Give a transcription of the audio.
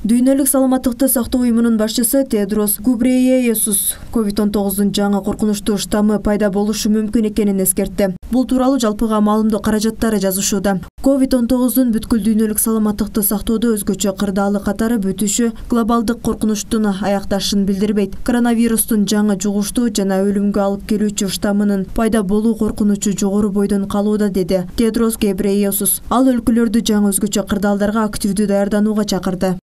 Дүйнөлүк саламаттыкты сактоо уюмунун башчысы Тедрос Гебрейесус COVID-19 жаңы коркунучтуу штаммы пайда болушу мүмкүн экенин эскертти. Бул тууралуу жалпыга маалымдоо каражаттары жазышууда. COVID-19 бүткүл дүйнөлүк саламаттыкты сактоодо өзгөчө кырдаалы катары бүтүшү глобалдык коркунучтун аякташын билдирбейт. Коронавирустун жаңы жугуштуу жана өлүмгө алып келүүчү штаммынын пайда болуу коркунучу жогору бойдон калууда, деди Тедрос Гебрейесус. Ал өлкөлөрдү жаңы өзгөчө кырдаалдарга активдүү даярданууга чакырды.